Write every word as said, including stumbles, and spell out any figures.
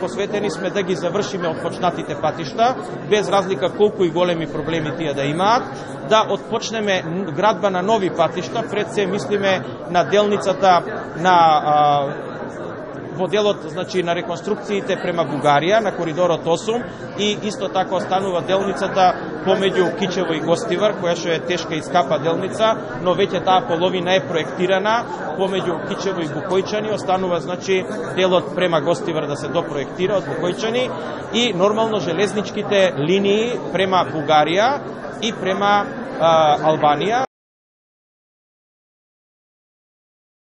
посветени сме да ги завршиме отпочнатите патишта, без разлика колку и големи проблеми тие да имаат, да отпочнеме градба на нови патишта, пред се мислиме на делницата на а, во делот, значи, на реконструкциите према Бугарија, на коридорот осум, и исто така останува делницата помеѓу Кичево и Гостивар, која што е тешка и скапа делница, но веќе таа половина е проектирана помеѓу Кичево и Букојчани, останува, значи, делот према Гостивар да се допроектира од Букојчани и нормално железничките линии према Бугарија и према а, Албанија.